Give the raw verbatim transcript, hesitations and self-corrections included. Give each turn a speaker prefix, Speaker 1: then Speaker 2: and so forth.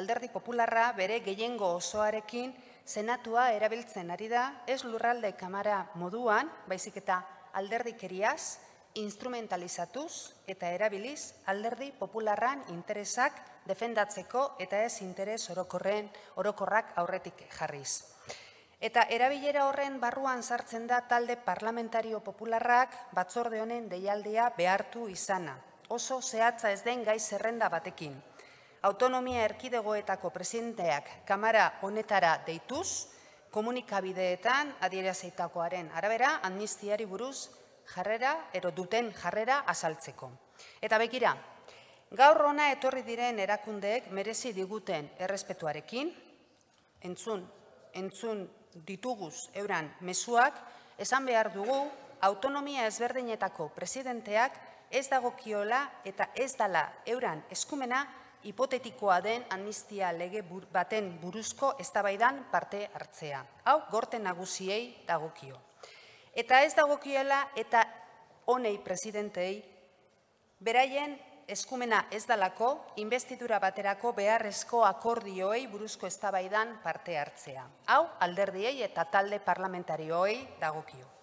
Speaker 1: Alderdi Popularra bere gehiengo osoarekin senatua erabiltzen ari da, ez lurralde kamara moduan, baizik eta alderdikeriaz, instrumentalizatuz eta erabiliz alderdi popularran interesak defendatzeko eta ez interes orokorren orokorrak aurretik jarriz. Eta erabilera horren barruan sartzen da talde parlamentario popularrak batzorde honen deialdia behartu izana. Oso zehatza ez den gai zerrenda batekin. Autonomia erkidegoetako presidenteak kamara honetara deituz, komunikabideetan adierazitakoaren arabera amnistiari buruz jarrera, ero duten jarrera azaltzeko. Eta begira, gaur hona etorri diren erakundeek merezi diguten errespetuarekin, entzun, entzun dituguz euran mezuak, esan behar dugu autonomia ezberdinetako presidenteak ez dagokiola eta ez dala euran eskumena hipotetikoa den amnistia lege baten buruzko eztabaidan parte hartzea. Hau, gorte nagusiei dagokio. Eta ez dagokiola eta honei presidentei beraien eskumena ez dalako investidura baterako beharrezko akordioei buruzko eztabaidan parte hartzea. Hau, alderdiei eta talde parlamentarioei dagokio.